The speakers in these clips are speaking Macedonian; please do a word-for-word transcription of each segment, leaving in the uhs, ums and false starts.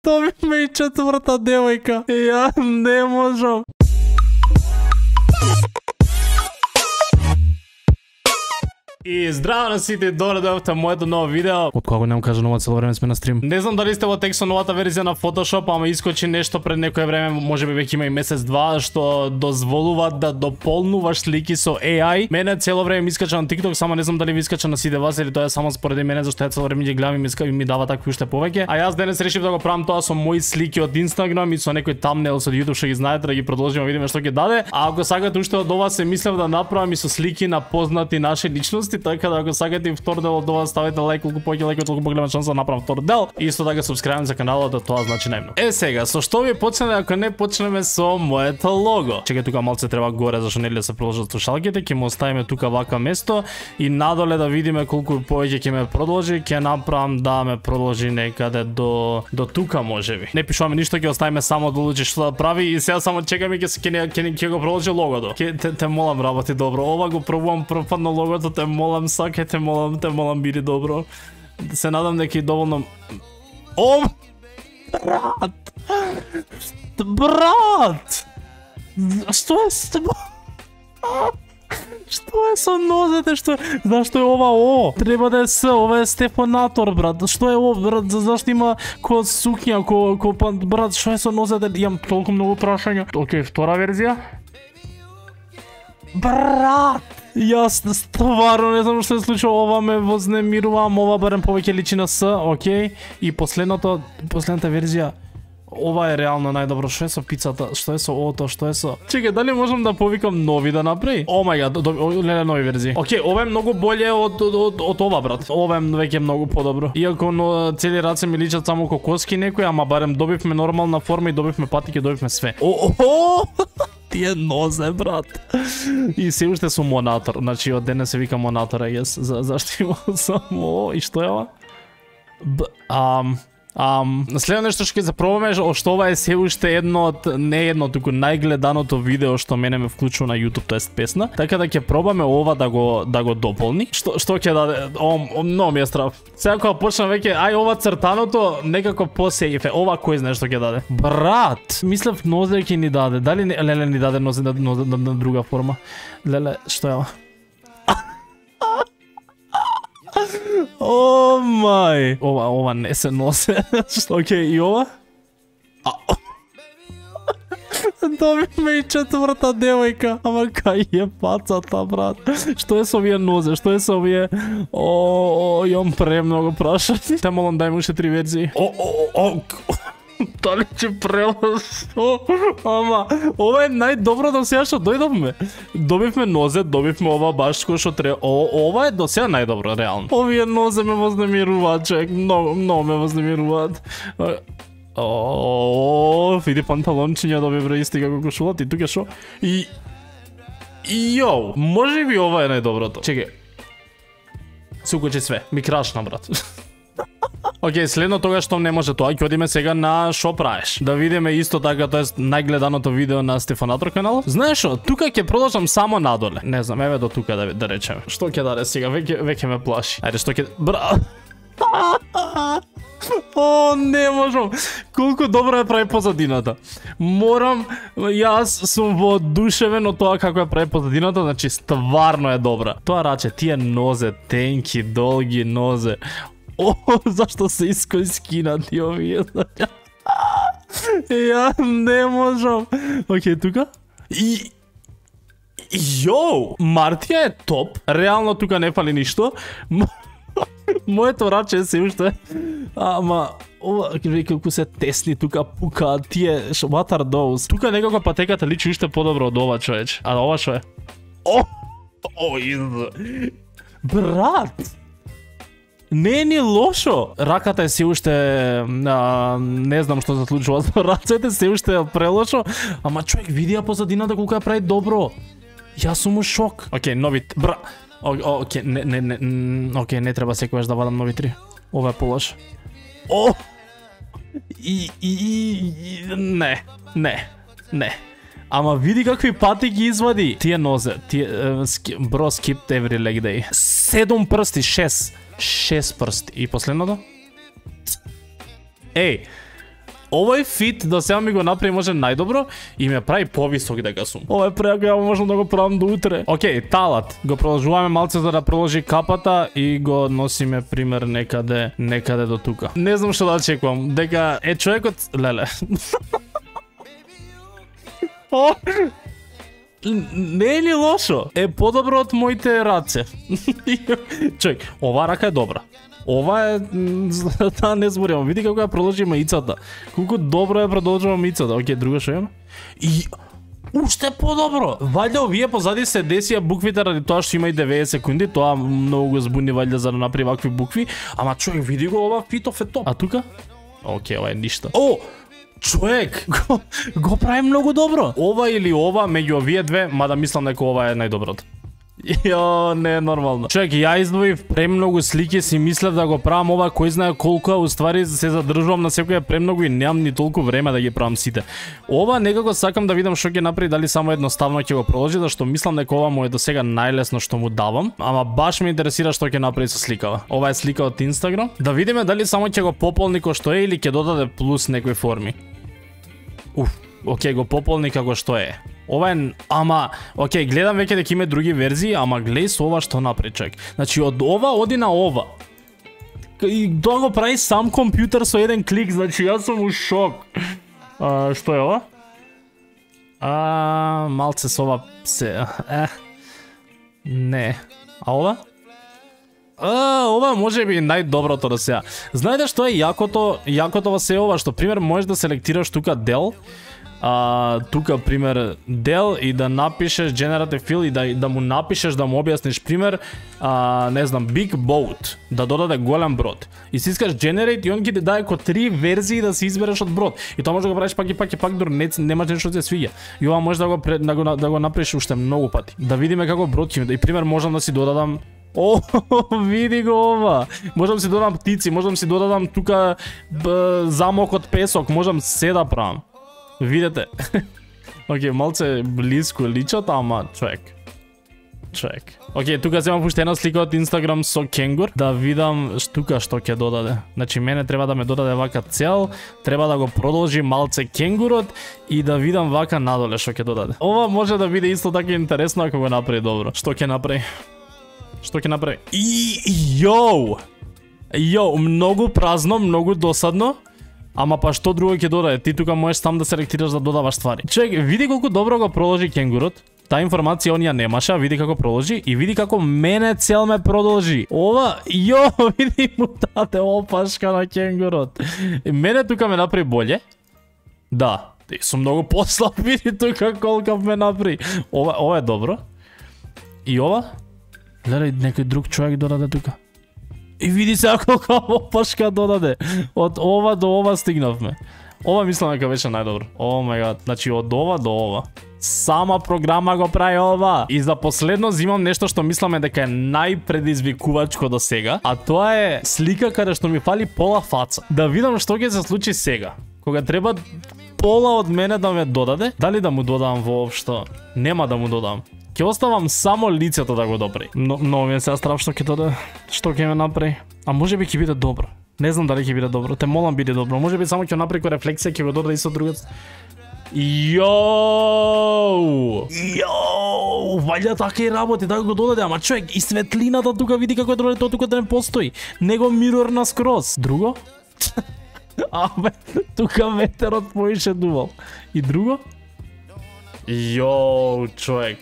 Добивме и четврта девојка. Ја не можам. И здраво на сите, добре дојавте моето ново видео. Од кога немам кажа нова, цело време сме на стрим. Не знам дали сте во текст со новата верзија на Photoshop, ама искочи нешто пред некое време, можеби веќе има и месец два, што дозволува да дополнуваш слики со A I. Мене цело време ми искача на TikTok, само не знам дали ви искача на сите вас или тоа е само според мене, зашто ја цело време ги гледам и ми, ми дава такви уште повеќе. А јас денес решив да го правам тоа со мои слики од Instagram и со некој thumbnail со YouTube, што ги знаете, да ги продолжиме, видиме што ќе даде. А ако сакате уште од ова, се мислев да направам и со слики на познати наши личности, така да ако сакате втор дел од ова, ставете лайк, колку повеќе лайк, толку поголема шанса да направам втор дел. И исто така субскрајб за каналот, да тоа значи најмногу. Е сега, со што ви почнеме ако не почнеме со моето лого? Чекај, тука малце треба горе зашто нели да се приложат слушалките, ќе му оставиме тука вака место и надоле да видиме колку повеќе ќе ме продолжи, ќе направам да ме продолжи некаде до до тука можеби. Не пишуваме ништо, ќе оставиме само да одлучи што да прави и сега само чекаме ќе ќе ќе ќе го продолжи логото. Ќе те, те молам работи добро. Ова го пробувам прв пат на логото, те молам сакај, те молам, те молам биди добро. Се надам дека и доволно. О! Брат! Брат! Што е с тебе? Што е со нозете, што е? Зашто е ова О? Треба да е С, ова е стефанатор, брат. Што е О, брат? Зашто има ко сукња, ко, ко брат, што е со нозете? Имам толку многу прашања. Океј, втора верзија. Брат! Јас стварно не знам што се случува, ова ме вознемирува, ова барем повеќе личи на С, окей. И последното, последната верзија. Ова е реално најдобро. Што е со пицата? Што е со ото? Што е со? Чекај, дали можам да повикам нови да направи? О мај гад, леле нови верзии. Океј, ова е многу боле од од од, од ова, брат. Ова е веќе многу подобро. Иако но цели раце ми личат само кокоски некои, ама барем добивме нормална форма и добивме патики, добивме све. О, о, тие нозе, брат. И се уште сум монатор. Значи од денес се вика монатор, јас. За зашто има само и што е ова? Б, ам Ам, следно нешто што ќе запробаме, што ова е се уште едно од, не едно, туку најгледаното видео што мене ме вклучува на YouTube, тоест песна. Така да ќе пробаме ова да го да го дополни. Што што ќе даде? О, о многу ми е страв. Сега кога почнам веќе, ај ова цртаното некако посејфе. Ова кој знае што ќе даде? Брат, мислев нозе ќе ни даде. Дали не, леле ни даде нозе на, на, на, на друга форма? Леле, што е ова? О мај. Ова, ова не се носе. Океј, и ова? Добивме и четврта девојка. Ама кај е пацата, брат? Што е со овие нозе? Што е со овие? О, имам премногу прашања. Те молам дај ми уште три верзии. О, о, о. Дали ќе преласо? Ама, ова е најдобро до сега што дојдовме. Добивме нозе, добивме ова баш кој што треба. О, ова е до сега најдобро, реално. Овие нозе ме вознемируваат, човек. Многу, многу ме вознемируваат. О, види панталончиња добивме исти како кошулата и тука шо? И... Јоу, може би ова е најдоброто. Чекај. Се укочи све. Ми крашна, брат. Океј, следно тога што не може тоа, ќе одиме сега на шо правиш. Да видиме исто така, тоа е најгледаното видео на Стефанатор канал. Знаеш што, тука ќе продолжам само надоле. Не знам, еве до тука да да речеме. Што ќе даде сега? Веќе веќе ме плаши. Ајде, што ќе бра. О, не можам. Колку добро ја прави позадината. Морам, јас сум воодушевен од тоа како ја прави позадината, значи стварно е добра. Тоа раче, тие нозе, тенки, долги нозе. О, зашто се искојскинати овие? Ја не можам. Океј, тука. И... Јоу! Мартија е топ. Реално тука не фали ништо. Моето раче се уште. Ама... Ова, колку се тесни тука пука, тие... What are those? Тука некако патеката личи уште подобро од ова, човеч. А ова шо е? О! О, изда. Брат! Не е ни лошо. Раката е се уште а, не знам што се случува со рацете, се уште прелошо, ама човек види ја позадината колку ја прави добро. Јас сум у шок. Океј, нови бра. Океј, не не не, океј, не треба секогаш да вадам нови три. Ова е полош. О! И и не, не, не. Ама види какви пати ги извади. Тие нозе, тие бро skip every leg day. Седум прсти, шест. Шест прсти. И последното? Еј, Овој фит до сега ми го направи може најдобро и ме прави повисок дека сум. Ова е преако, ја можам да го правам до утре. Океј, талат. Го продолжуваме малце за да продолжи капата и го носиме пример некаде, некаде до тука. Не знам што да очекувам, дека е човекот, леле. О, не е ли лошо? Е подобро од моите раце. Човек, ова рака е добра. Ова е, да не зборимо, види како ја продолжи маицата. Колку добро ја продолжува маицата. Океј, друго што имаме? И уште подобро. Вајде овие позади се десија буквите ради тоа што има и деветдесет секунди, тоа многу го збуни вајде за да направи вакви букви, ама човек види го ова фитов е топ. А тука? Океј, ова е ништо. О, човек, го, го прави многу добро. Ова или ова меѓу овие две, мада мислам дека ова е најдоброто. Јо, не е нормално. Човек, ја издвоив премногу слики, си мислев да го правам ова, кој знае колку, а уствари се задржувам на секоја премногу и немам ни толку време да ги правам сите. Ова некако сакам да видам што ќе направи, дали само едноставно ќе го продолжи, зашто мислам дека ова му е до сега најлесно што му давам, ама баш ме интересира што ќе направи со сликава. Ова е слика од Инстаграм. Да видиме дали само ќе го пополни кој што е или ќе додаде плюс некои форми. Уф, окей, го пополни како што е. Ова е, ама, окей, гледам веќе дека има други верзии, ама гледај со ова што направи човек. Значи од ова оди на ова. И тоа го прави сам компјутер со еден клик, значи јас сум у шок. А, што е ова? А, малце со ова се, е. Не. А ова? А, ова може би најдоброто до сега. Знаете што е јакото, јакото во се ова, што пример можеш да селектираш тука дел, а, тука пример дел и да напишеш generative fill и да, да му напишеш, да му објасниш пример, а, не знам, big boat, да додаде голем брод. И си искаш generate и он ги даде ко три верзии да си избереш од брод. И тоа може да го правиш пак и пак и пак, дури не, немаш нешто да се свиѓа. И ова може да го, да го, да го направиш уште многу пати. Да видиме како брод ќе ми. И пример можам да си додадам. О, види го ова. Можам си додадам птици, можам си додадам тука б, замок од песок, можам се да правам. Видете. Океј, малце близко личат, ама човек. Човек. Океј, тука земам уште една слика од Инстаграм со кенгур, да видам тука што ќе додаде. Значи мене треба да ме додаде вака цел, треба да го продолжи малце кенгурот и да видам вака надоле што ќе додаде. Ова може да биде исто така интересно ако го направи добро. Што ќе направи? Што ќе направи? И јоу. Јоу, многу празно, многу досадно. Ама па што друго ќе додаде? Ти тука можеш сам да селектираш да додаваш ствари. Човек, види колку добро го продолжи кенгурот. Таа информација он ја немаше, а види како продолжи и види како мене цел ме продолжи. Ова, јо, види му даде опашка на кенгурот. Мене тука ме направи боле. Да, сум многу послаб, види тука колку ме направи. Ова, ова е добро. И ова? Гледај, некој друг човек додаде тука. И види се колку опашка додаде. Од ова до ова стигнавме. Ова мислам дека беше најдобро. О мај гад, значи од ова до ова. Сама програма го прави ова. И за последно зимам нешто што мисламе дека е најпредизвикувачко до сега, а тоа е слика каде што ми фали пола фаца. Да видам што ќе се случи сега. Кога треба пола од мене да ме додаде, дали да му додам воопшто? Нема да му додам. Ќе оставам само лицето да го допри. Но, но ми е сега страв што ќе додаде, што ќе ме направи. А може би ќе биде добро. Не знам дали ќе биде добро. Те молам биде добро. Може би само ќе направи ко рефлексија, ќе го додаде исто другот. Јоу! Јоу! Вајде така и работи, да го додаде, ама човек, и светлината тука види како е додаде, тоа тука да не постои. Него мирор на скроз. Друго? Абе, тука ветерот поише дувал. И друго? Јоу, човек.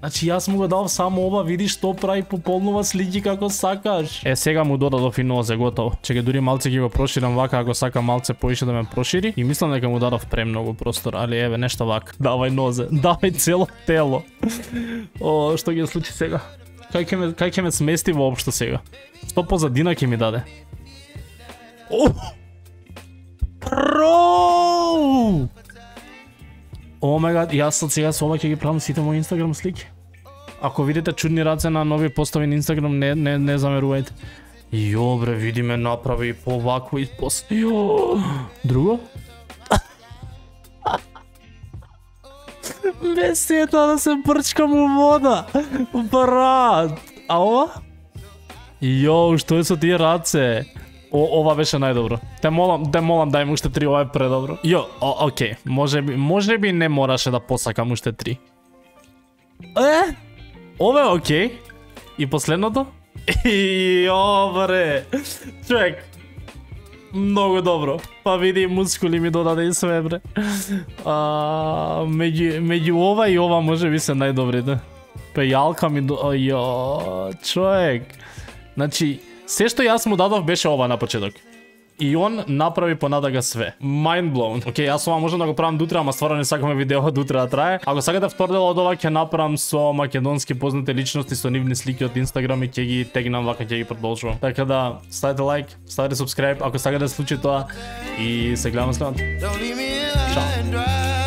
Значи јас му го дав само ова, види што прави, пополнува слики како сакаш. Е, сега му додадов и нозе, готово. Чекај, дури малце ќе го проширам вака, ако сака малце поише да ме прошири. И мислам дека му дадов премногу простор, али еве нешто вака. Давај нозе, давај цело тело. О, што ќе случи сега? Кај ќе ме, кај ќе ме смести воопшто сега? Што позадина ќе ми даде? О! Бро! О мај гад, јас од сега со ова ќе ги правам сите мои Инстаграм слики. Ако видите чудни раце на нови постови на Инстаграм, не, не, не замерувајте. Јо бре, види ме направи и по вакво и по... Јо! Друго? Ме сета да се брчкам у вода. Брат! А ова? Јо, што е со тие раце? О, ова беше најдобро. Те молам, те молам дај му уште три, ова е предобро. Јо, о, окей, може би, може би не мораше да посакам уште три. Е, ова е окей. И последното? Јо, бре. Човек, многу добро. Па види, мускули ми додаде и све, бре. А, меѓу, меѓу ова и ова може би се најдобрите. Пејалка ми до... Јо, човек. Значи, се што јас му дадов беше ова на почеток. И он направи понатака све. Mind blown. Океј, јас ова можам да го правам дутре, ама стварно не сакаме видео дутре да трае. Ако сакате втор дел од ова ќе направам со македонски познати личности, со нивни слики од Инстаграм и ќе ги тегнам вака, ќе ги продолжувам. Така да, ставете лайк, ставете subscribe ако сакате да се случи тоа и се гледаме следното. Чао.